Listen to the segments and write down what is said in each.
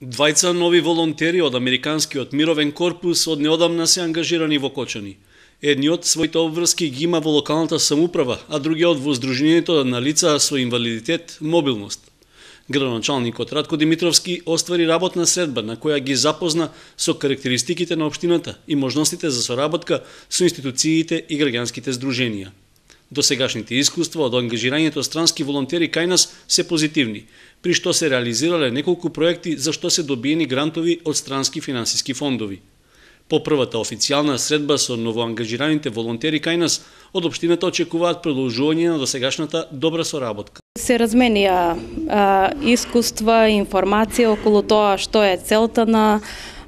Двајца нови волонтери од Американскиот мировен корпус од неодамна се ангажирани во Кочани. Едниот своите обврски ги има во локалната самоуправа, а другиот во Сдруженијето на лица со инвалидитет мобилност. Градоначалникот Ратко Димитровски оствари работна средба на која ги запозна со карактеристиките на општината и можностите за соработка со институциите и граѓанските здруженија. Досегашните искуства од ангажирањето странски волонтери кај нас се позитивни, при што се реализирале неколку проекти за што се добиени грантови од странски финансиски фондови. По првата официјална средба со новоангажираните волонтери кај нас, од општината очекуваат продолжување на досегашната добра соработка. Се разменија искуства и информација околу тоа што е целта на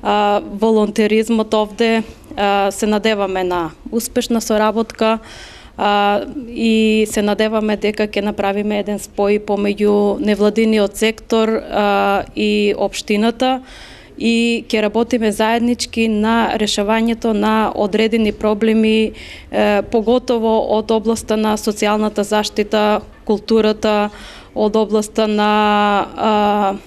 волонтеризмот овде. Се надеваме на успешна соработка и се надеваме дека ќе направиме еден спој помеѓу невладиниот сектор и општината и ќе работиме заеднички на решавањето на одредени проблеми, поготово од областа на социјалната заштита, културата, од областа на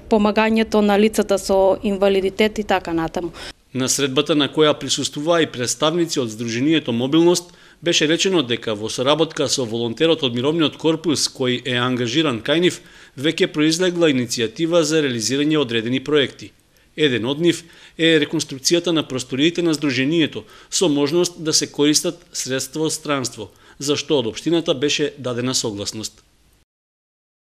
помагањето на лицата со инвалидитет и така натаму. На средбата на која присуствуваа и представници од Сдруженијето Мобилност, беше речено дека во соработка со волонтерот од Мировниот корпус кој е ангажиран кај нив, веќе произлегла иницијатива за реализирање одредени проекти. Еден од нив е реконструкцијата на просториите на Сдруженијето со можност да се користат средства од странство, за што од општината беше дадена согласност.